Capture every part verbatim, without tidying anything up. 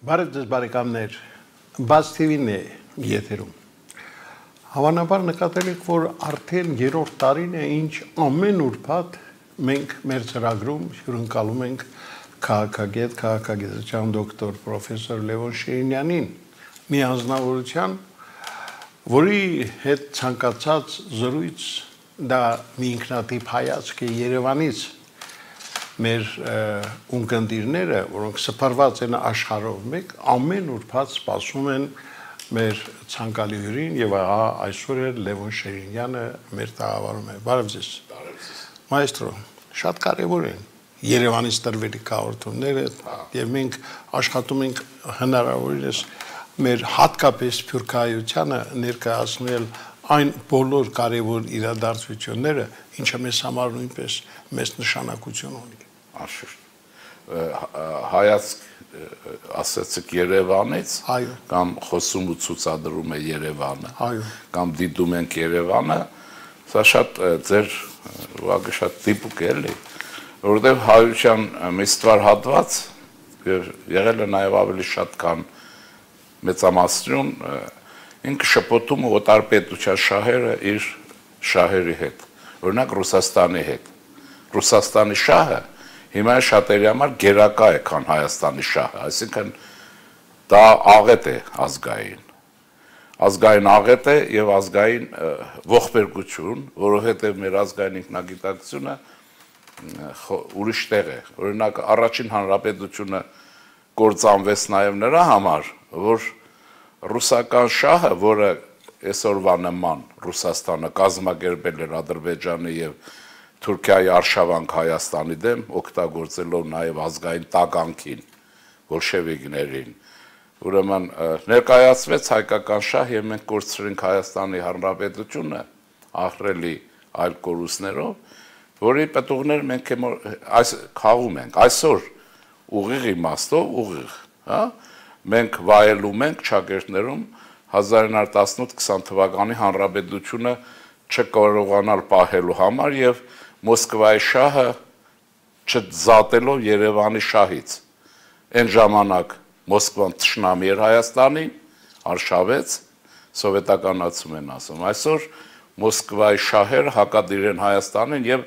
Բարև ձեզ բարեկամներ, Բաց Թի Վի-ն է եթերում։ Հավանաբար նկատել եք, որ արդեն երրորդ տարին է, ինչ ամեն ուրբաթ մենք մեր ծրագրում հյուրընկալում ենք քաղաքագետ, քաղաքագիտության դոկտոր պրոֆեսոր Լևոն Շիրինյանին, մի անձնավորության, որի հետ ցանկացած զրույց դա մի ինքնատիպ հայացք է Երևանից մեր ունկնդիրները, որոնք սփռված են աշխարհով մեկ, ամեն ուրբաթ սպասում են մեր ցանկալի հյուրին եւ ահա այսօր էլ Լևոն Շիրինյանը մեր տաղավարում է։ Բարև ձեզ։ Բարև ձեզ։ Մայստրո, շատ կարեւոր են Երևանից տրվելի հաղորդումները եւ մենք աշխատում ենք հնարավորինս մեր հատկապես սփյուռքահայությանը ներկայացնել այն բոլոր կարևոր իրադարձությունները, ինչը մեզ համար նույնպես մեծ նշանակություն ունի։ Անշուշտ հայացք ասացիք Երևանից, կամ խոսում ու ցուցադրում է Երևանը, կամ դիտում ենք Երևանը, սա շատ ձեր ուղղակի շատ տիպիկ է, էլի, որովհետև հայության մի ստվար հատված եղել է նաև ավելի շատ քան մեծամասնություն, ինքը շփոթում ու օտարպետության շահերը իր շահերի հետ, օրինակ Ռուսաստանի հետ։ Ռուսաստանի շահը հիմա շատերի համար գերակա է, քան Հայաստանի շահը, այսինքն դա աղետ է ազգային։ Ազգային աղետ է եւ ազգային ողբերգություն, որովհետեւ մեր ազգային ինքնագիտակցությունը ուրիշ տեղ է։ Օրինակ առաջին հանրապետությունը կործանվեց նաեւ նրա համար, որ ռուսական շահը, որը այսօրվա նման Ռուսաստանը կազմակերպել էր Ադրբեջանի եւ Թուրքիայի արշավանք Հայաստանի դեմ, օգտագործելով նաև ազգային տագանքին, բոլշևիկներին, ուրեմն ներկայացվեց հայկական շահ եւ մենք կորցրինք Հայաստանի Հանրապետությունը ահռելի այլ կորուստներով, որի պատուղներ մենք այս խաղում ենք, այսօր ուղիղ իմաստով ուղիղ, հա, մենք վայելում ենք ճակերտներում հազար ինը հարյուր տասնութ քսան թվականի Հանրապետությունը չկարողանալ պահելու համար եւ Մոսկվայի շահը չզատելով Երևանի շահից։ Այն ժամանակ Մոսկվան թշնամի էր Հայաստանին, արշավեց, սովետականացում են ասում։ Այսօր Մոսկվայի շահերը հակադիր են Հայաստանին եւ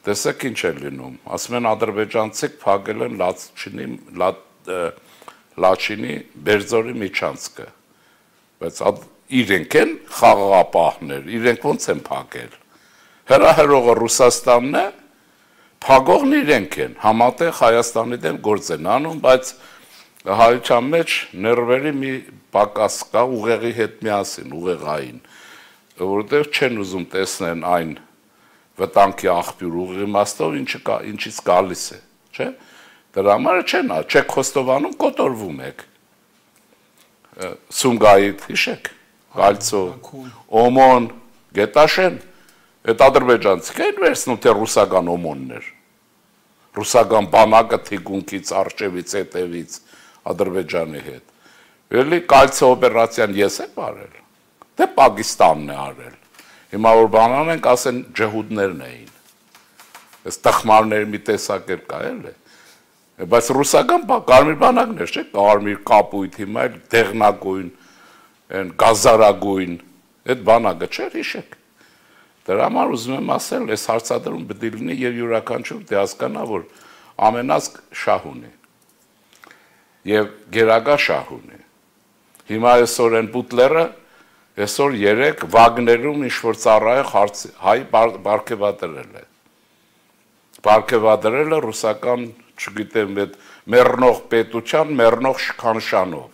տեսեք ինչ է լինում։ Ասում են ադրբեջանցիք փակել են Լաչինի Լաչինի Բերձորի միջանցքը։ Բայց իրենք են խաղաղապահներ, իրենք ոնց են փակել։ Հրահրողը Ռուսաստանն է, փակողն իրենք են, համատեղ Հայաստանի դեմ գործ են անում, բայց հայության մեջ ներվերի մի պակաս կա ուղեղի հետ միասին, ուղեղային, որովհետև չեն ուզում տեսնեն այն վտանգի աղբյուր ուղեղի իմաստով, ինչից գալիս է, չէ՞։ Դրա համար չեն, չեք խոստովանում, կոտորվում եք։ Սումգայիթ, հիշեք, Գալցո, Օմոն, Գետաշեն, այդ ադրբեջանցիք են վերցնում, թե ռուսական օմոններ, ռուսական բանակը թիկունքից, արջևից, հետևից, ադրբեջանի հետ։ Էլի Կալցո օպերացիան ես եմ արել, թե Պակիստանն է արել։ Հիմա որ բանան ենք, ասեն ջհուդներն էին։ Այս տխմարների մի տեսակ կա, էլի։ Բայց ռուսական կարմիր բանակներ, չէ՞, կարմիր կապույտ, հիմա էլ դեղնագույն, այն գազարագույն, այդ բանակը չէր, հիշեք։ Դրա համար ուզում եմ ասել, այս հարցադրում պետք է լինի եւ յուրաքանչյուր դե հասկանա, որ ամենազգ շահ ունի եւ գերակա շահ ունի։ Հիմա այսօր են Բուտլերը, այսօր երեք Վագներում ինչ որ ծառայող հայ բարգեւադրել է։ Բարգեւադրել է ռուսական, չգիտեմ, այդ մեռնող պետության, մեռնող շքանշանով։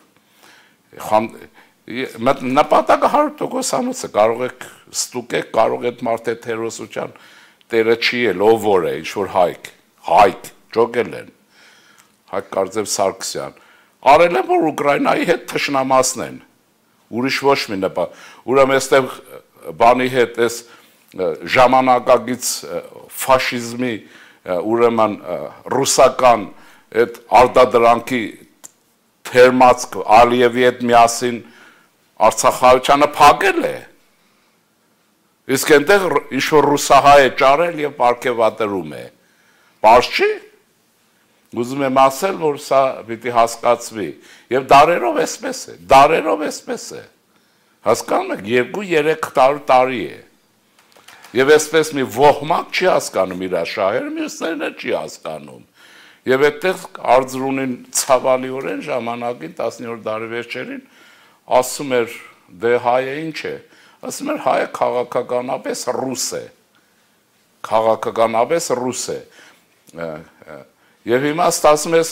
Նպատակը հարյուր տոկոսանոց է, կարող եք ստուկեք, կարող եք մարդը հերոսության տերը չի էլ, ով որ է, ինչ-որ հայք, հայք, ճոգել են, հայք կարծեմ Սարգսյան, արել են, որ Ուկրայնայի հետ թշնամասնեն, ուրիշ ոչ մի նպատ, ուրեմ եստեղ բանի հետ ես ժամանակագից ֆաշիզմի, ուրեման ռուսական այդ արդադրանքի թերմացք Ալիևի հետ միասին Արցախայությանը փակել է, իսկ այնտեղ ինչ-որ ռուսահայ է ճարել և պարգևատրում է, պարզ չի, ուզում եմ ասել, որ սա պիտի հասկացվի, եւ դարերով էսպես է, դարերով էսպես է, հասկանում եք, երկու երեք տարի է, եւ էսպես մի ոհմակ չի հասկանում իր շահերը, մյուսներն չի հասկանում, եւ այդտեղ Արձրունին ցավալիորեն ժամանակին տասնյորդ դարի վերջերին ասում էր, դե հայը ինչ է, ասում էր հայը քաղաքականապես ռուս է, քաղաքականապես ռուս է, եւ հիմա ստացվում է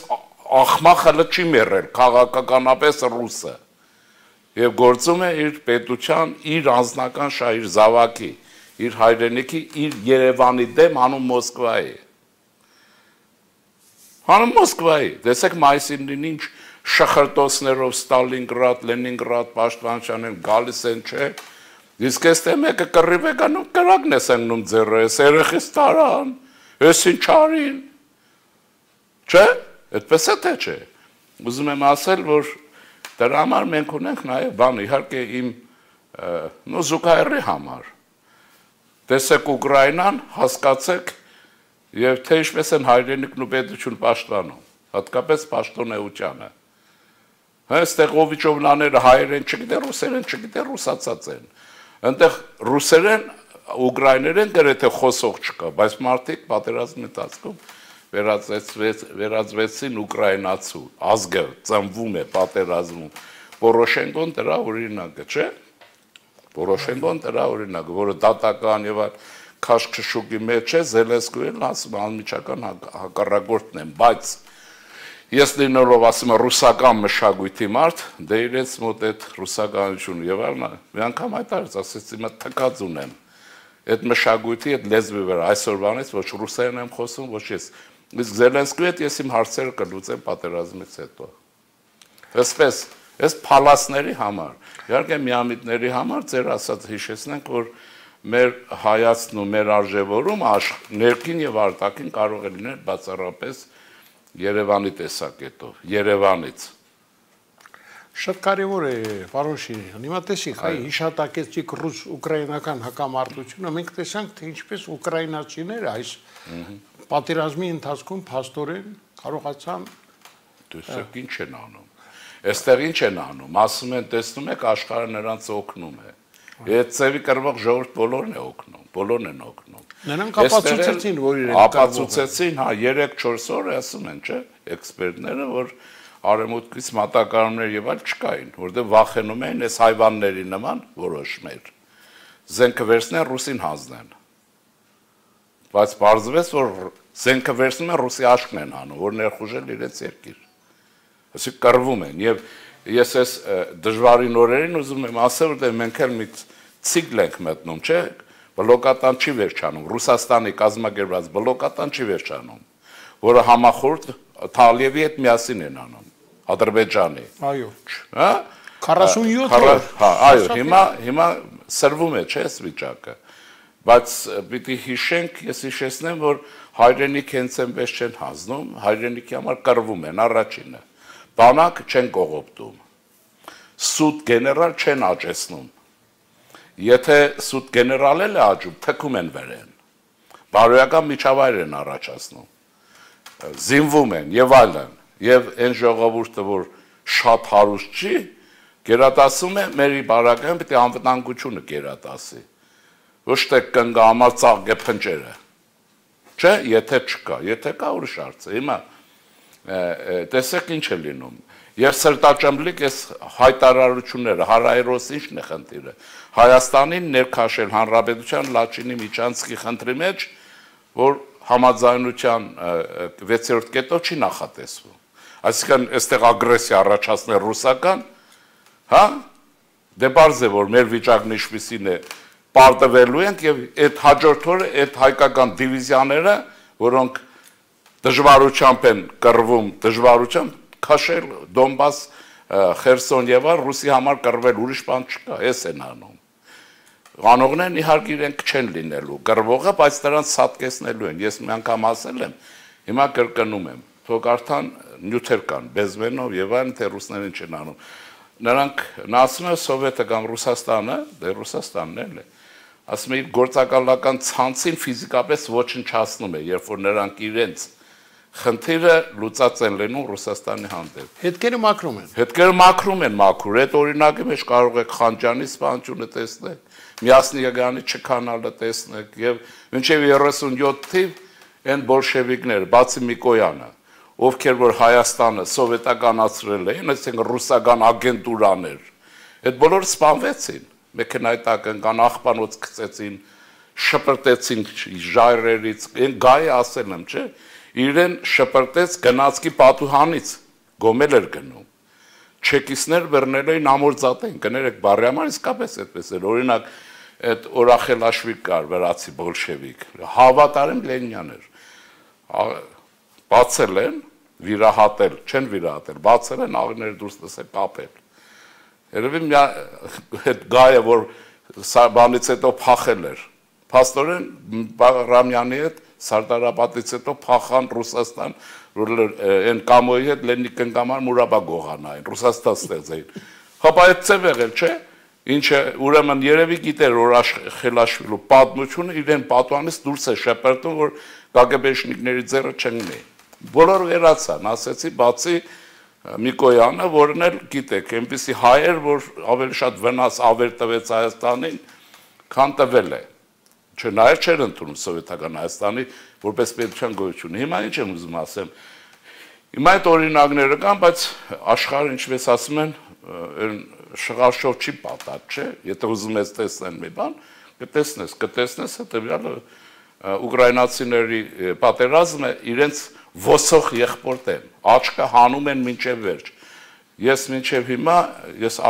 աղմախը չի մեռել քաղաքականապես ռուսը եւ գործում է իր պետության, իր անձնական շահ, իր զավակի, իր հայրենիքի, իր Երևանի դեմ անում Մոսկվայի։ Անում Մոսկվայի, տեսեք մայիսին ինչ շախրտոցներով Ստալինգրադ, Լենինգրադ պաշտպանության են գալիս են, չէ։ Իսկ այստեղ մեկը կռիվ է գնում, կրակն է սեղմում ձեռը, էս երեխից տարան, էս ինչ արին։ Չէ, այդպես է թե չէ։ Ուզում եմ ասել, որ դրա համար մենք ունենք նաև բան, իհարկե իմ նո զուգահեռի համար։ Տեսեք Ուկրաինան, հասկացեք, եւ թե ինչպես են հայրենիքն ու պետություն պաշտպանում, հատկապես պաշտոնեությանը։ Այստեղ Օվիճովնաները հայերեն չգիտեն, ռուսերեն չգիտեն, ռուսացած են։ Այնտեղ ռուսերեն, ուկրաիներեն գրեթե խոսող չկա, բայց մարդիկ պատերազմի ընթացքում վերածվեցին ուկրաինացու, ազգը ծնվում է պատերազմում։ Պորոշենկոն դրա օրինակը, չէ՞։ Պորոշենկոն դրա օրինակը, որը դատական եւ քաշքշուկի մեջ է, Զելենսկին ասում է անմիջական հակառակորդն են, բայց ես լինելով ասում եմ ռուսական մշակույթի մարդ, դե իրենց մոտ այդ ռուսականությունը եւ այլն, մի անգամ հայտարարեց, ասեցի մա թքած ունեմ։ Այդ մշակույթի, այդ լեզվի վրա այսօրվանից ոչ ռուսերեն եմ խոսում, ոչ ես։ Իսկ Զելենսկի հետ ես իմ հարցերը կլուծեմ պատերազմից հետո։ Այսպես, այս փալասների համար, իհարկե միամիտների համար ձեր ասած հիշեցնենք, որ մեր հայացքն ու մեր արժևորումը ներքին եւ արտաքին կարող է լինել բացառապես Երևանի տեսակետով, Երևանից։ Շատ կարևոր է, պարոն Շիրյան, հիմա տեսիք, այ հիշատակեցիք ռուս-ուկրաինական հակամարտությունը, մենք տեսանք, թե ինչպես ուկրաինացիները այս պատերազմի ընթացքում փաստորեն կարողացան տեսեք ինչ են անում։ Այստեղ ինչ են անում, ասում են, տեսնում եք, աշխարհը նրանց օգնում է։ Այդ ծևի կրվող ժողովուրդ բոլորն է օգնում, բոլորն են օգնում։ Նրանք ապացուցեցին, որ իրենք ապացուցեցին, հա, երեք-չորս օր ասում են, չէ՞, էքսպերտները, որ արևմուտքից մատակարարներ եւ այլ չկային, որտեղ վախենում էին այս հայվանների նման որոշներ։ Զենքը վերցնեն, ռուսին հանձնեն։ Բայց պարզվեց, որ զենքը վերցնում են, ռուսի աշկն են անում, որ ներխուժել իրենց երկիր։ Այսինքն կռվում են եւ ես այս դժվարին օրերին ուզում եմ ասել, որ մենք էլ մի ցիկլ ենք մտնում, չէ՞, բլոկատան չի վերջանում, Ռուսաստանի կազմակերպած բլոկատան չի վերջանում, որը համախորհուրդ Թալիևի հետ միասին են անում, Ադրբեջանի։ Այո։ Հա? քառասունյոթ օր։ Հա, այո, հիմա հիմա սրվում է, չէ՞, այս վիճակը։ Բայց պիտի հիշենք, ես հիշեցնեմ, որ հայրենիք հենց այնպես չեն հանձնում, հայրենիքի համար կռվում են առաջինը։ Բանակ չեն կողոպտում, սուտ գեներալ չեն աճեցնում, եթե սուտ գեներալ էլ է աճում, թքում են վերեն, բարոյական միջավայր են առաջացնում, զինվում են եւ այլն, եւ այն ժողովուրդը, որ շատ հարուստ չի, գերատասում է մեր բարակային պիտի անվտանգությունը գերատասի, ոչ թե կնգա համար ծաղկե փնջերը, չէ, եթե չկա, եթե կա ուրիշ հարց է, հիմա տեսեք ինչ է լինում եւ սրտաճամլիկ այս հայտարարությունները հարայրոս ինչն է խնդիրը Հայաստանին ներքաշել հանրապետության Լաչինի միջանցքի խնդրի մեջ որ համաձայնության վեցերորդ կետով չի նախատեսվում այսինքն այստեղ ագրեսիա առաջացնել ռուսական հա դե բարձ է որ մեր վիճակն ինչպիսին է պարտվելու ենք եւ այդ հաջորդ օրը այդ հայկական դիվիզիաները որոնք դժվարությամբ են կռվում, դժվարությամբ քաշել Դոնբաս, Խերսոն եւ այլ ռուսի համար կռվել ուրիշ բան չկա, էս են անում։ Անողներն իհարկե իրենք չեն լինելու, կռվողը, բայց նրանց սատկեցնելու են։ Ես մի անգամ ասել եմ, հիմա կրկնում եմ, թող արդեն նյութեր կան, Բեզմենով եւ այլն, թե ռուսներն չեն անում։ Նրանք նա ասում է Սովետը կամ Ռուսաստանը, դե Ռուսաստանն էլ է։ Ասում է իր գործակալական ցանցին ֆիզիկապես ոչնչացնում է, երբ որ նրանք իրենց խնդիրը լուծած են լինում Ռուսաստանի հանդեպ։ Հետքերը մաքրում են։ Հետքերը մաքրում են մաքուր։ Այդ օրինակի մեջ կարող եք Խանջյանի սպանությունը տեսնել, Միասնիագյանի չքանալը տեսնեք եւ մինչեւ երեսունյոթ թիվ այն բոլշևիկները, բացի Միկոյանը, ովքեր որ Հայաստանը սովետականացրել էին, այսինքն ռուսական ագենտուրաներ, այդ բոլորը սպանվեցին, մեքենայի տակ ընկան, աղբանոց գցեցին, շպրտեցին ժայռերից, այն գայը ասել եմ, չէ՞, իրեն շպրտեց գնացքի պատուհանից, գոմել էր գնում։ Չեկիստներ բռնել էին ամորձատեն, կներեք բարի համար իսկապես այդպես էր, օրինակ այդ Օրախելաշվիկ կար, վրացի բոլշևիկ, հավատարիմ Լենինյան էր, բացել են, վիրահատել, չեն վիրահատել, բացել են, աղիները դուրս տեսել, կապել։ Երևի մի այդ գայը, որ բանից հետո փախել էր, փաստորեն Ռամյանի հետ Սարդարապետից հետո փախան Ռուսաստան, որ այն կամոյի հետ Լենինի կնկամար Մուրաբա գողանային, Ռուսաստան ստեղծեին։ Հապա այդ ծև եղել, չէ՞։ Ինչը ուրեմն երևի գիտեր, որ Խելաշվիլու պատմությունը իրեն պատուանից դուրս է շպրտում, որ կագեբեշնիկների ձեռը չընկնի։ Բոլորը վերացան, ասեցի, բացի Միկոյանը, որն էլ գիտեք, այնպիսի հայ էր, որ ավելի շատ վնաս ավեր տվեց Հայաստանին, քան տվել է։ Չնայած չէր ընդունում սովետական Հայաստանի որպես պետության գոյություն։ Հիմա ինչ եմ ուզում ասեմ։ Հիմա այդ օրինակները կան, բայց աշխարհը ինչպես ասում են, շղարշով չի պատած, չէ՞։ Եթե ուզում ես տեսնել մի բան, կտեսնես, կտեսնես հետեւյալը ուկրաինացիների պատերազմը իրենց ոսող եղբորդ են, աչքը հանում են մինչև վերջ։ Ես մինչև հիմա, ես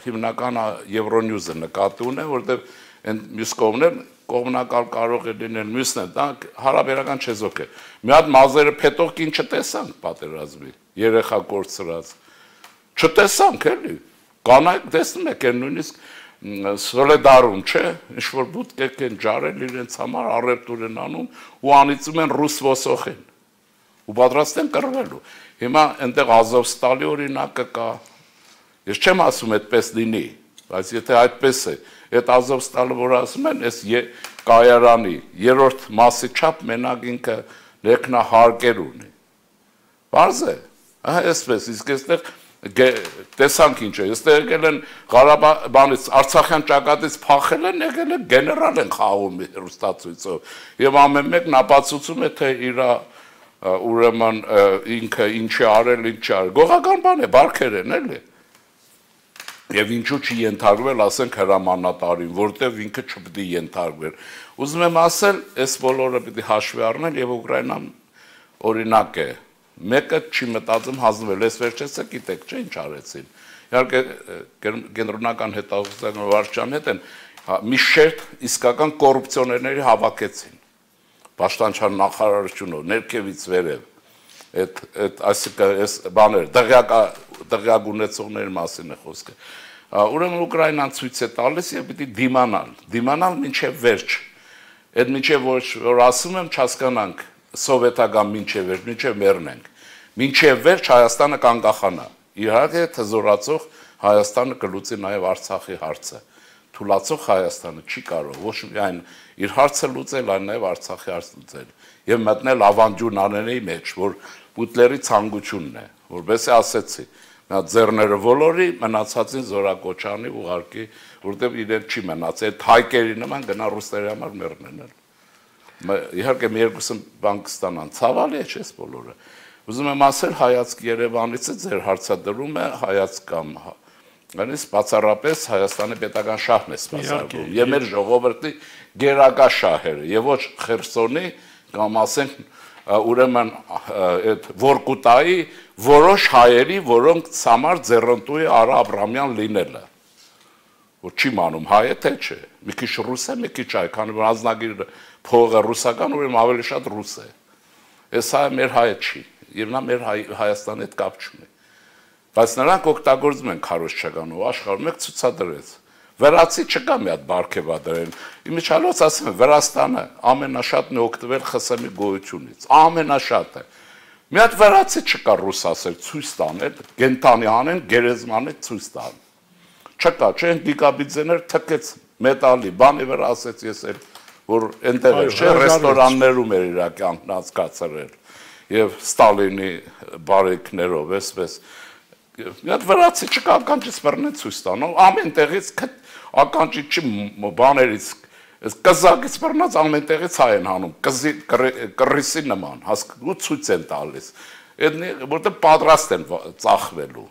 հիմնական Եվրոնյուզը նկատի ունեմ, որտեղ այն մյուս կողմն կողմնակալ կարող է լինել մյուսն է, դա հարաբերական չեզոք է։ Մի հատ մազերը փետող կին չտեսանք պատերազմի, երեխա կորցրած։ Չտեսանք էլի։ Կանայք տեսնում եք, այն նույնիսկ Սոլեդարում, չէ, ինչ-որ բուտկեք են ջարել իրենց համար, առևտուր են անում ու անիծում են ռուս ոսոխին ու պատրաստ են կռվելու։ Հիմա այնտեղ Ազովստալի օրինակը կա։ Ես չեմ ասում այդպես լինի, բայց եթե այդպես է, այդ Ազովստալը, որ ասում են, այս կայարանի երրորդ մասի չափ մենակ ինքը ներքնահարկեր ունի։ Պարզ է, այսպես, իսկ այստեղ տեսանք ինչ է, այստեղ եկել են Ղարաբաղից, Արցախյան ճակատից փախել են, եկել են գեներալ են խաղում հեռուստացույցով եւ ամեն մեկն ապացուցում է, թե իր ուրեմն ինքը ինչ է արել, ինչ է արել։ Գողական բան է, բարքեր են, էլի։ Եվ ինչու չի ենթարկվել, ասենք հրամանատարին, որտեղ ինքը չպետք է ենթարկվեր։ Ուզում եմ ասել, այս բոլորը պիտի հաշվի առնել եւ Ուկրաինան օրինակ է։ Մեկը չի մտածում հանձնվել, ես վերջեցը գիտեք, չէ՞ ինչ արեցին։ Իհարկե կենտրոնական հետազոտողական վարչության հետ են մի շերտ իսկական կոռուպցիոներների հավաքեցին։ Պաշտպանության նախարարությունով ներքևից վերև այդ այդ այսինքն այս բաներ դղյակ դղյակ ունեցողների մասին է խոսքը։ Ուրեմն Ուկրաինան ցույց է տալիս եւ պիտի դիմանալ, դիմանալ մինչեւ վերջ։ Այդ մինչեւ որ ասում եմ չհասկանանք սովետական մինչև վերջ, մինչև մեռնենք, մինչև վերջ Հայաստանը կանկախանա, իհարկե թզորացող Հայաստանը կլուծի նաև Արցախի հարցը, թուլացող Հայաստանը չի կարող ոչ միայն իր հարցը լուծել, այլ նաև Արցախի հարցը լուծել եւ մտնել ավանդյունաների մեջ, որ Պուտլերի ցանկությունն է, որովհետեւ ասեցի, նա ձեռները ոլորի, մնացածին զորակոչանի ուղարկի, որտեղ իրեն չի մնաց, այդ հայկերի նման գնա ռուսների համար մեռնեն։ Իհարկե մի երկուսը բան կստանան, ցավալի է չէ՞ բոլորը։ Ուզում եմ ասել, հայացք Երևանից է ձեր հարցադրումը հայացք կամ նույնիսկ բացառապես Հայաստանի պետական շահն է սպասարկում, եւ մեր ժողովրդի գերակա շահերը, եւ ոչ Խերսոնի կամ ասենք ուրեմն այդ Որկուտայի որոշ հայերի, որոնք ցամար ձեռնտու է Արա Աբրամյան լինելը։ Որ չի մանում հայ է թե չէ, մի քիչ ռուս է, մի քիչ հայ, քանի որ ազնագիրը փողը ռուսական, ուրեմն ավելի շատ ռուս է։ Այս հայը մեր հայը չի, եւ նա մեր Հայաստանի հետ կապ չունի։ Բայց նրանք օգտագործում են քարոզչական ու աշխարհում մեկ ցուցադրեց։ Վրացի չկա մի հատ Բարքեվադրեն։ Իմիջիալոց ասեմ, Վրաստանը ամենաշատն է օգտվել ԽՍՀՄ-ի գոյությունից, ամենաշատը։ Մի հատ վրացի չկա ռուս ասել, ցույց տանել, գենտանի անեն, գերեզմանի ցույց տան։ Չկա, չէ՞, Գիգաբիձեներ թքեց մետալի, բանի վրա ասեց ես էլ, որ այնտեղ չէ, ռեստորաններում էր իր կյանքն անցկացրել։ եւ Ստալինի բարեկներով, այսպես մի հատ վրացի չկա ականջից բռնեն ցույց տանող, ամեն տեղից ականջի չի բաներից, այս կզակից բռնած ամեն տեղից հայ են հանում, կզի կռիսի նման, հասկու ցույց են տալիս, որտեղ պատրաստ են ծախվելու,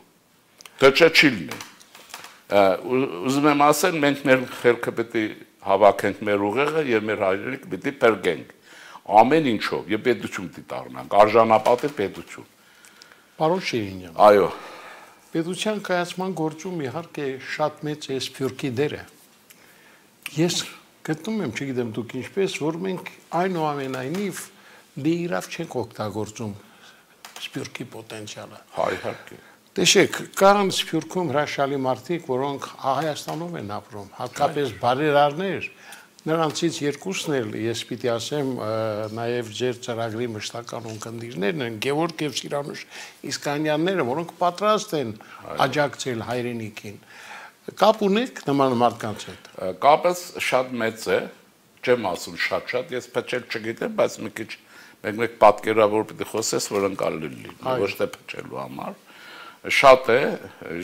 թե չէ չի լինի։ Ուզում եմ ասել, մենք մեր խելքը պետք է հավաքենք մեր ուղեղը եւ մեր հայրենիքը պետք է փրկենք ամեն ինչով եւ պետություն պիտի դառնանք, արժանապատիվ պետություն։ Պարոն Շիրինյան։ Այո։ Պետության կայացման գործում իհարկե շատ մեծ է սփյուռքի դերը։ Ես գտնում եմ, չգիտեմ դուք ինչպես, որ մենք այնուամենայնիվ դիրավ չենք օգտագործում սփյուռքի պոտենցիալը։ Հա, իհարկե։ Տեսեք, կան սփյուռքում հրաշալի մարդիկ, որոնք Հայաստանում են ապրում, հատկապես բարերարներ, նրանցից երկուսն էլ ես պիտի ասեմ, նաև ձեր ծրագրի մշտական ունկնդիրներն են, Գևորգ եւ Սիրանուշ Իսկանյանները, որոնք պատրաստ են աջակցել հայրենիքին։ Կապ ունեք նման մարդկանց հետ։ Կապը շատ մեծ է, չեմ ասում շատ-շատ, ես փչել չգիտեմ, բայց մի քիչ մեկ-մեկ պատկերավոր պիտի խոսես, որ ընկալի լինի, ոչ թե փչելու համար։ Շատ է,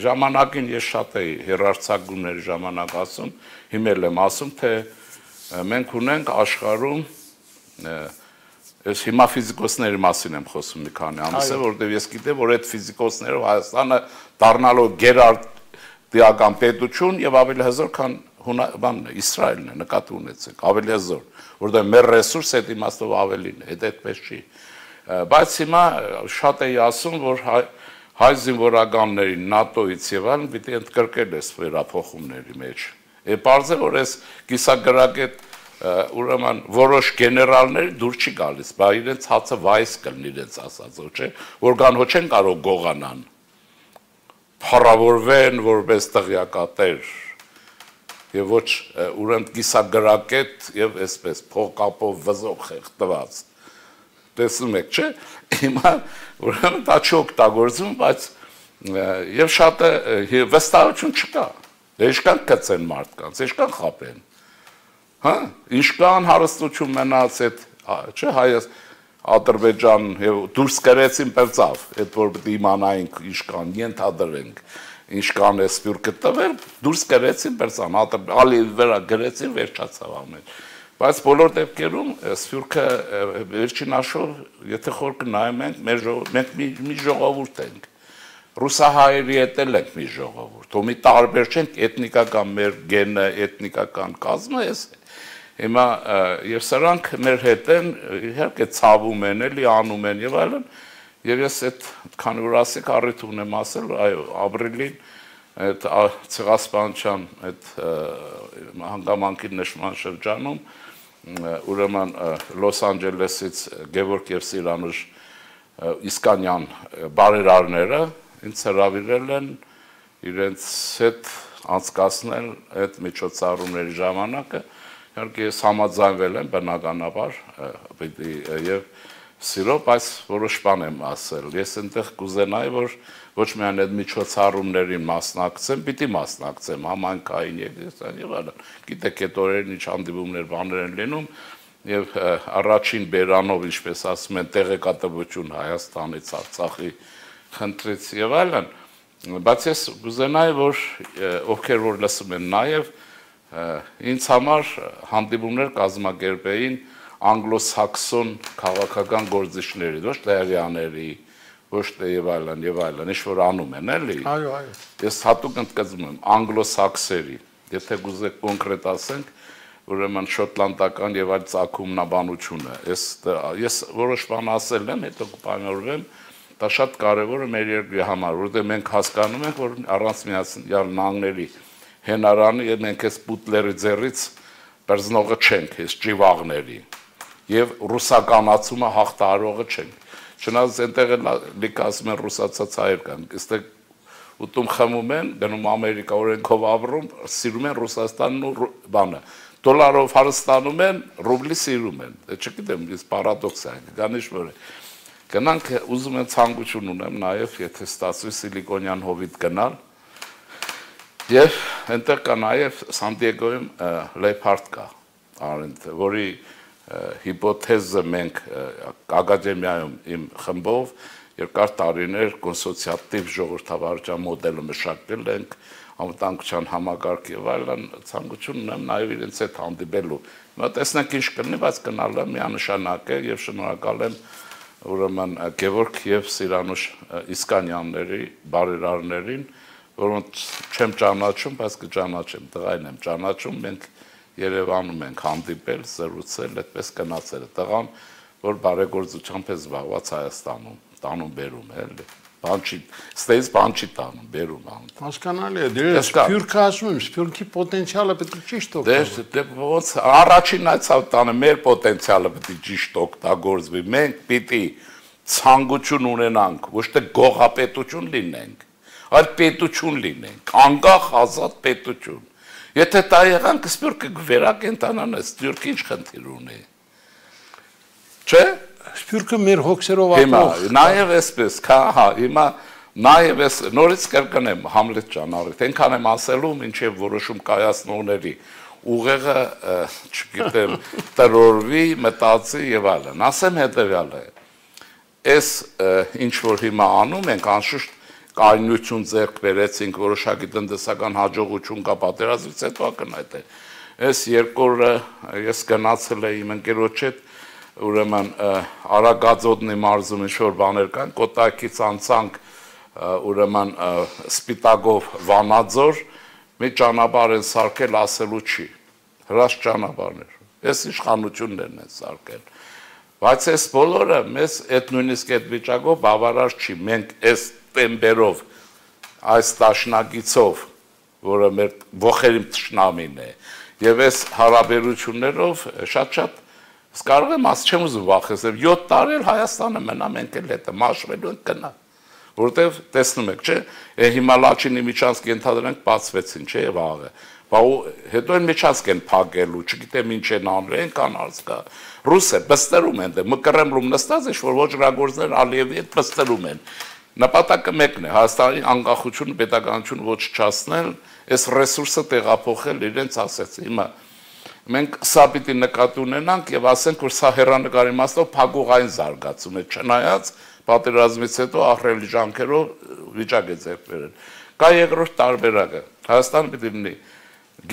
ժամանակին ես շատ էի հերարցակումների ժամանակ ասում, հիմա եմ ասում, թե մենք ունենք աշխարհում այս հիմա ֆիզիկոսների մասին եմ խոսում մի քանի ամիս է, որտեղ ես գիտեմ, որ այդ ֆիզիկոսներով Հայաստանը դառնալու գերարտիական պետություն եւ ավելի հզոր, քան բանն է, Իսրայելն է, նկատի ունեցեք, ավելի հզոր, որտեղ մեր ռեսուրս այդ իմաստով ավելին է, այդ այդպես չի։ Բայց հիմա շատ էի ասում, որ հայ զինվորականներին ՆԱՏՕ-ից եւ այլն պիտի ընդգրկել այս վերափոխումների մեջ։ Է բարձ է, որ այս կիսագրագետ ուրեմն որոշ գեներալներ դուր չի գալիս, բա իրենց հացը վայս կլինի իրենց ասածով, չէ, որ կան հո չեն կարող գողանան, փառավորվեն որպես տղյակատեր եւ ոչ ուրեմն կիսագրագետ եւ այսպես փողկապով վզով խեղդված։ Տեսնում եք, չէ, հիմա ուրեմն դա չօգտագործվում, բայց եւ շատ վստահություն չկա։ Ինչքան կծեն մարդկանց, ինչքան խապեն։ Հա, ինչքան հարստություն մնաց այդ, չէ, հայաց Ադրբեջան եւ դուրս գրեցին պերծավ, այդ որ պետք է իմանայինք ինչքան ենթադրենք, ինչքան է սփյուռքը տվել, դուրս գրեցին պերծան, ալի վրա գրեցին, վերջացավ ամեն։ Բայց բոլոր դեպքերում սփյուռքը վերջին աշխով, եթե խոր կնայում ենք, մենք մի ժողովուրդ ենք։ Ռուսահայերի հետ էլ ենք մի ժողովուրդ, ու մի տարբեր չենք էթնիկական մեր գենը, էթնիկական կազմը էս է։ Հիմա եւ սրանք մեր հետ են, իհարկե ցավում են, էլի անում են եւ այլն, եւ ես այդ քանի որ ասեք առիթ ունեմ ասել, այո, ապրիլին այդ ցեղասպանության այդ հանգամանքի նշման շրջանում ուրեմն Լոս Անջելեսից Գևորգ եւ Սիրանուշ Իսկանյան բարերարները ինձ հրավիրել են իրենց հետ անցկացնել այդ միջոցառումների ժամանակը, իհարկե ես համաձայնվել եմ բնականաբար եւ սիրով, բայց որոշ բան եմ ասել, ես այնտեղ կուզենայի, որ ոչ միայն այդ միջոցառումներին մասնակցեմ, պիտի մասնակցեմ համայնքային եկեղեցիական եւ այլն, գիտեք այդ օրերին ինչ հանդիպումներ բաներ են լինում եւ առաջին բերանով, ինչպես ասում են, տեղեկատվություն Հայաստանից, Արցախի խնդրից եւ այլն, բայց ես կուզենայի, որ ովքեր որ լսում են նաեւ ինձ համար հանդիպումներ կազմակերպեին անգլոսաքսոն քաղաքական գործիչների, ոչ թե հрьяաների, ոչ թե եւ այլն եւ այլն, ինչ որ անում են, էլի։ Այո, այո։ Ես հատուկ ընդգծում եմ անգլոսաքսերի, եթե կուզեք կոնկրետ ասենք, ուրեմն շոտլանդական եւ այլ ցակումնաբանությունը։ Ես ես որոշ բան ասել եմ, հետո կպայմանավորվեմ, դա շատ կարեւոր է մեր երկրի համար, որովհետեւ մենք հասկանում ենք, որ առանց միացյալ նահանգների հենարանի եւ մենք այս պուտլերի ձեռից բերձնողը չենք, այս ճիվաղների եւ ռուսականացումը հաղթահարողը չենք։ Չնայած այնտեղ լիք ասում են ռուսացած հայեր կան, այստեղ ուտում խմում են, գնում Ամերիկա օրենքով ապրում, սիրում են Ռուսաստանն ու բանը, դոլարով հարստանում են, ռուբլի սիրում են։ Չգիտեմ, ես պարադոքս է, գանիշ որ է։ Գնանք, ուզում եմ ցանկություն ունեմ նաեւ, եթե ստացվի Սիլիկոնյան հովիտ գնալ։ Եվ այնտեղ կա նաև Սանտիագոյում Լեփարդ կա, որի հիպոթեզը մենք ակադեմիայում իմ խմբով երկար տարիներ կոնսոցիատիվ ժողովրդավարության մոդելը մշակել ենք, անվտանգության համագարկ եւ այլն, ցանկություն ունեմ նաեւ իրենց հետ հանդիպելու։ Հիմա տեսնենք ինչ կլինի, բայց գնալը միանշանակ է եւ շնորհակալ եմ ուրեմն Գևորգ եւ Սիրանուշ Իսկանյանների բարերարներին, որոնց չեմ ճանաչում, բայց կճանաչեմ, տղային եմ ճանաչում, մենք Երևանում ենք հանդիպել, զրուցել, այդպես գնացել է տղան, որ բարեգործությամբ է զբաղված Հայաստանում, տանում բերում է, էլի։ Բան չի, ստեյս բան չի տանում, բերում ան։ Հասկանալի է, դե Սփյուռքը ասում եմ, Սփյուռքի պոտենցիալը պետք է ճիշտ օգտագործվի։ Դե ոնց առաջին այցավ տանը մեր պոտենցիալը պետք է ճիշտ օգտագործվի։ Մենք պիտի ցանկություն ունենանք, ոչ թե գողապետություն լինենք, այլ պետություն լինենք, անկախ ազատ պետություն։ Եթե դա եղանք Սփյուռքը վերակենդանանա, Սփյուռքը ինչ խնդիր ունի։ Չէ՞։ Սփյուռքը մեր հոգսերով ապրող։ Հիմա նաև էսպես, հա, հիմա նաև էս նորից կրկնեմ Համլետ ջան, առիթ, այնքան եմ ասելու, մինչև որոշում կայացնողների ուղեղը, չգիտեմ, տրորվի, մտածի եւ այլն։ Ասեմ հետեւյալը։ Այս ինչ որ հիմա անում ենք, անշուշտ կայունություն ձեռք բերեցինք, որոշակի տնտեսական հաջողություն կա պատերազմից հետո ակնհայտ է։ Այս երկու օրը ես գնացել եմ իմ ընկերոջ հետ, ուրեմն Արագածոտնի մարզում ինչ-որ բաներ կան, Կոտայքից անցանք ուրեմն Սպիտակով Վանաձոր, մի ճանապարհ են սարքել, ասելու չի, հրաշք ճանապարհներ, այս իշխանություններն են սարքել, բայց այս բոլորը մեզ այդ նույնիսկ այդ վիճակով բավարար չի, մենք այս տեմպերով, այս տաշնակիցով, որը մեր ոխերիմ թշնամին է, եւ այս հարաբերություններով շատ-շատ կարող եմ ասել, չեմ ուզում վախեցնել, յոթ տարի էլ Հայաստանը մնա, մենք էլ հետը մաշվելու ենք գնա, որտեվ տեսնում եք, չէ, հիմա Լաչինի միջանցք ենթադրենք բացվեցին, չէ, վաղը, հետո են միջանցք են փակելու, չգիտեմ ինչ են անել, են կան արցկա, ռուս է, պստերում են, Մկրեմլում նստած է, որ ոչրագործներ Ալիևի հետ պստերում են, նպատակը մեկն է, Հայաստանի անկախությունը, պետականությունը ոչնչացնել, այս ռեսուրսը տեղափոխել իրենց ասեց, հիմա մենք սա պիտի նկատի ունենանք եւ ասենք, որ սա հեռանկարի իմաստով փակուղային զարգացում է, չնայած պատերազմից հետո ահռելի ջանքերով վիճակ է ձեռք բերել։ Կա երկրորդ տարբերակը, Հայաստանը պիտի լինի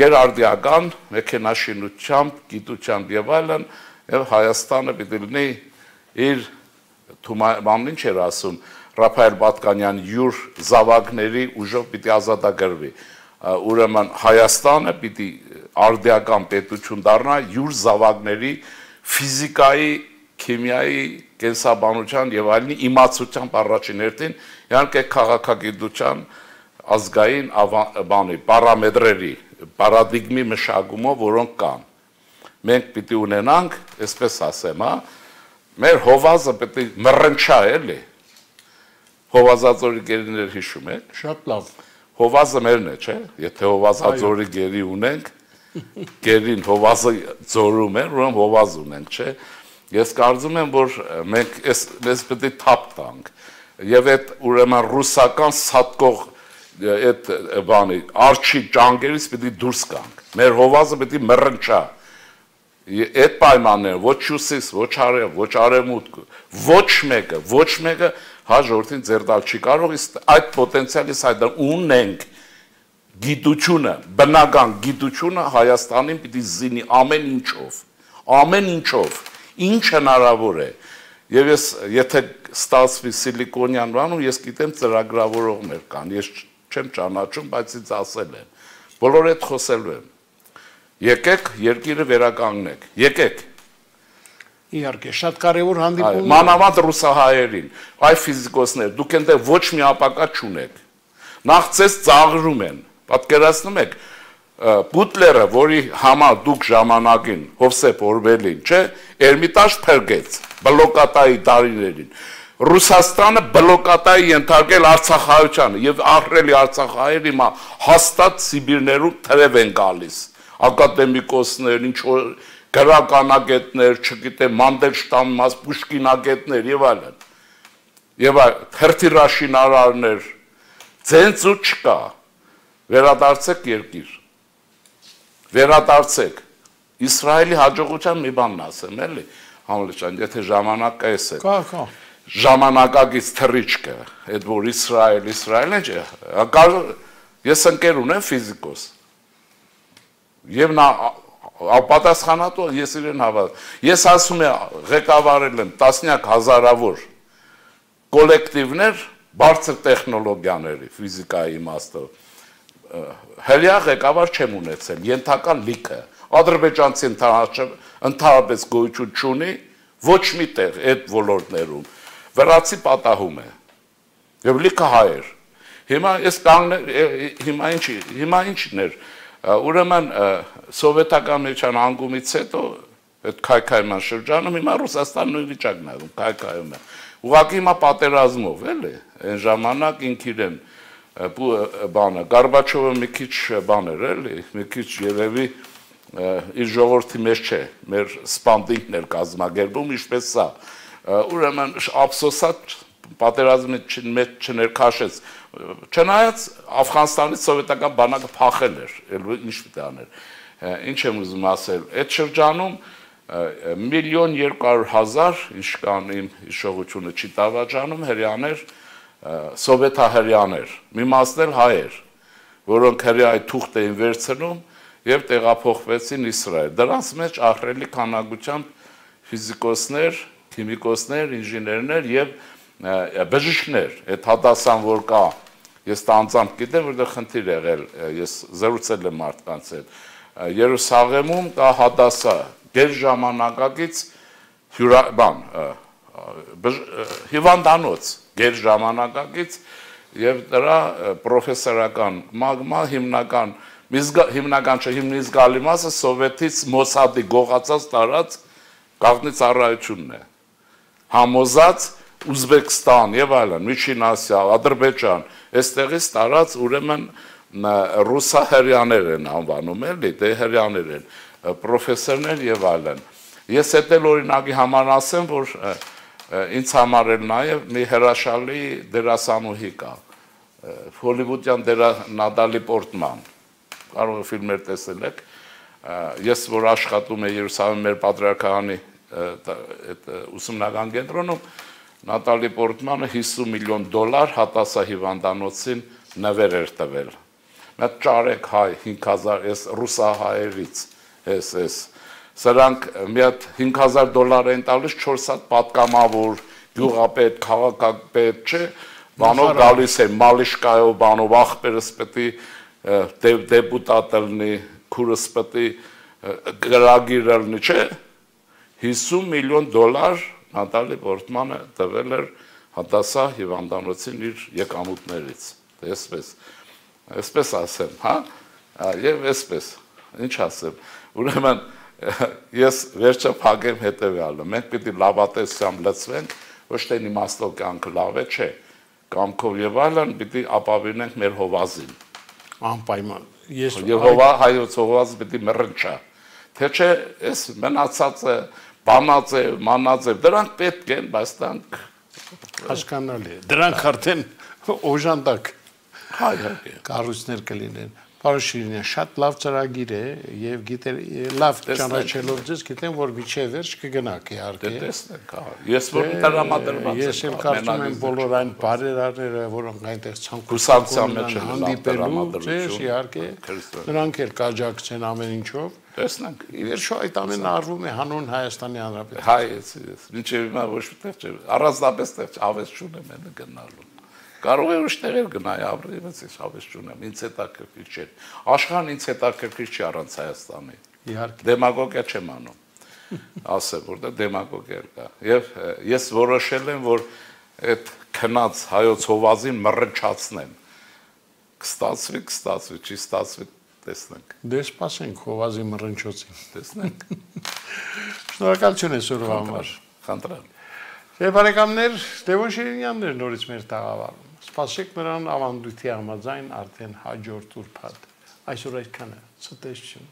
գերարդիական, մեքենաշինությամբ, գիտությամբ եւ այլն, եւ Հայաստանը պիտի լինի իր թումանին ինչ էր ասում, Ռափայել Բատկանյան յուր զավակների ուժով պիտի ազատագրվի։ Ուրեմն Հայաստանը պիտի արդիական պետություն դառնա յուր զավակների ֆիզիկայի, քիմիայի, կենսաբանության եւ այլնի իմացությամբ առաջին հերթին, իհարկե քաղաքագիտության ազգային բանի պարամետրերի, պարադիգմի մշակումով, որոնք կան։ Մենք պիտի ունենանք, այսպես ասեմ, հա, մեր հովազը պետք է մռնչա, էլի։ Հովազածորի գերիներ հիշում եք։ Շատ լավ։ Հովազը մերն է, չէ՞։ Եթե հովազածորի գերի ունենք, գերին հովազը ձորում են, ուրեմն հովազ ունենք, չէ՞։ Ես կարծում եմ, որ մենք մեզ պետք է թափ տանք։ Եվ այդ ուրեմն ռուսական սատկող այդ բանի արջի ջանգերից պետք է դուրս գանք։ Մեր հովազը պետք է մռնչա։ Այդ պայմանները ոչ հյուսիս, ոչ արև, ոչ արևմուտք, ոչ մեկը, ոչ մեկը հա ժողովրդին ձեռ տալ չի կարող, իսկ այդ պոտենցիալից այդ ունենք գիտությունը, բնական գիտությունը Հայաստանին պիտի զինի ամեն ինչով, ամեն ինչով, ինչ հնարավոր է։ Եվ ես եթե ստացվի Սիլիկոնյան բանում, ես գիտեմ ծրագրավորողներ կան, ես չեմ ճանաչում, բայց ինձ ասել են։ Բոլորը հետ խոսելու եմ։ Եկեք երկիրը վերականգնեք, եկեք։ Իհարկե, շատ կարևոր հանդիպում։ Մանավանդ ռուսահայերին, այ ֆիզիկոսներ, դուք այնտեղ ոչ մի ապակա չունեք։ Նախ ձեզ ծաղրում են, պատկերացնում եք, Բուտլերը, որի համար դուք ժամանակին Հովսեփ Օրբելին, չէ, Էրմիտաժ փրկեց բլոկատայի տարիներին։ Ռուսաստանը բլոկատայի ենթարկել Արցախայությանը եւ ահռելի Արցախայեր հիմա հաստատ Սիբիրներում թրև են գալիս։ Ակադեմիկոսներ, ինչ որ գրականագետներ, չգիտեմ, Մանդելշտամ, Պուշկինագետներ եւ այլն։ Եվ հերթիրաշինարարներ, ցենց ու չկա։ Վերադարձեք երկիր։ Վերադարձեք։ Իսրայելի հաջողության մի բանն ասեմ, էլի, Համլեշան, եթե ժամանակը էս է։ Կա, կա։ Ժամանակակից թռիչքը, այդ որ Իսրայել, Իսրայելն է, ես ընկեր ունեմ ֆիզիկոս։ Եվ նա պատասխանատու ես իրեն հավատում։ Ես ասում եմ, ղեկավարել եմ տասնյակ հազարավոր կոլեկտիվներ բարձր տեխնոլոգիաների, ֆիզիկայի իմաստով։ Հելյա ղեկավար չեմ ունեցել, ենթական լիքը։ Ադրբեջանցի ընդհանրապես գոյություն չունի, ոչ մի տեղ այդ ոլորտներում։ Վրացի պատահում է։ Եվ լիքը հայեր։ Հիմա ես կանգնել, հիմա ինչի, հիմա ինչն էր, ուրեմն սովետական միջան անկումից հետո այդ քայքայման շրջանում հիմա Ռուսաստանն նույն վիճակն է, քայքայում է։ Ուղղակի հիմա պատերազմով, էլի, այն ժամանակ ինք իրեն բանը, Գորբաչովը մի քիչ բան էր, էլի, մի քիչ երևի իր ժողովրդի մեջ չէ, մեր սպանդինքն էր կազմակերպում, ինչպես սա։ Ուրեմն ափսոսած պատերազմի մեջ չներքաշեց, չնայած Աֆղանստանից սովետական բանակը փախել էր, ինչ պիտի աներ։ Ինչ եմ ուզում ասել, այդ շրջանում միլիոն երկու հարյուր հազար, ինչ կան իմ հիշողությունը չի տավաճանում, հրեաներ, սովետահրեաներ, մի մասն էլ հայեր, որոնք հրեայի թուղթ էին վերցնում եւ տեղափոխվեցին Իսրայել։ Դրանց մեջ ահռելի քանակությամբ ֆիզիկոսներ, քիմիկոսներ, ինժեներներ եւ բժիշկներ, այդ հադասան որ կա, ես տանձամբ գիտեմ, որտեղ խնդիր եղել, ես զրուցել եմ մարդկանց հետ։ Երուսաղեմում կա հադասա, գեր ժամանակակից բան, հիվանդանոց, գեր ժամանակակից եւ դրա պրոֆեսորական մագմա հիմնական հիմնական չէ, հիմնից գալի մասը սովետից Մոսադի գողացած տարած գաղտնի ծառայությունն է։ Համոզած Ուզբեկստան եւ այլն, Միջին Ասիա, Ադրբեջան, այստեղից տարած ուրեմն ռուսահրեաներ են անվանում, էլի, դե հրեաներ են, պրոֆեսորներ եւ այլն։ Ես հետ էլ օրինակի համար ասեմ, որ ինձ համար էլ նաեւ մի հրաշալի դերասանուհի կա, հոլիվուդյան դերա Նատալի Պորտման, կարող է ֆիլմեր տեսել եք, ես որ աշխատում եմ Երուսաղեմի մեր պատրիարքահանի ուսումնական կենտրոնում, Նատալի Պորտմանը հիսուն միլիոն դոլար հատասահիվանդանոցին նվեր էր տվել։ Մեկ ճարեք հայ հինգ հազար էս ռուսահայերից, էս էս։ Սրանք մի հատ հինգ հազար դոլար են տալիս չորս հատ պատգամավոր, գյուղապետ, քաղաքապետ, չէ, բանով գալիս է Մալիշկայով, բանով ախպերս պետք է դեպուտատ լինի, քուրս պետք է գրագիր լինի, չէ։ հիսուն միլիոն դոլար Նատալի Պորտմանը տվել էր հատասա հիվանդանոցին իր եկամուտներից, այսպես, այսպես ասեմ, հա, և այսպես, ինչ ասեմ, ուրեմն ես վերջը փակեմ հետևյալը, մենք պիտի լավատեսությամբ լծվենք, ոչ թե իմաստով կյանքը լավ է, չէ, կամքով եւ այլն պիտի ապավինենք մեր հովազին։ Անպայման։ Ես եւ հովա հայոց հովազը պիտի մռնչա։ Թե չէ, այս մնացած է բանած է, մանած է, դրանք պետք են, բայց դրանք հասկանալի է։ Դրանք արդեն օժանդակ հայ-հայ կառույցներ կլինեն։ Պարոն Շիրինյան, շատ լավ ծրագիր է եւ գիտեր լավ ճանաչելով ձեզ գիտեմ որ միջև վերջ կգնաք իհարկե։ Դե տեսնենք, հա։ Ես որ տրամադրված եմ։ Ես եմ կարծում եմ բոլոր այն բարերարները, որոնք այնտեղ ցանկության մեջ են հանդիպելու, ձեզ իհարկե նրանք էլ կաջակցեն ամեն ինչով։ Տեսնենք։ Ի վերջո այդ ամենը արվում է հանուն Հայաստանի Հանրապետության։ Հայ, մինչև հիմա ոչ մի տեղ չէ։ Առանձնապես տեղ ավես չունեմ են գնալու։ Կարող է ուրիշ տեղեր գնայի, ապրի, ես հավես չունեմ, ինձ հետաքրքիր չէ։ Աշխարհն ինձ հետաքրքիր չի առանց Հայաստանի։ Իհարկե։ Դեմագոգիա չեմ անում։ Ասեմ, որտեղ դեմագոգիա կա։ Եվ ես որոշել եմ, որ այդ քնած հայոց հովազին մռնչացնեմ։ Կստացվի, կստացվի, չի ստացվի, տեսնենք։ Դե սպասենք հովազի մռնչոցին։ Տեսնենք։ Շնորհակալություն այսօրվա համար։ Խնդրեմ։ Եվ բարեկամներ, Լևոն Շիրինյանն էր նորից մեր տաղավարում։ Սպասեք նրան ավանդույթի համաձայն արդեն հաջորդ ուրբաթ։ Այսօր այդքանը, ցտեսություն։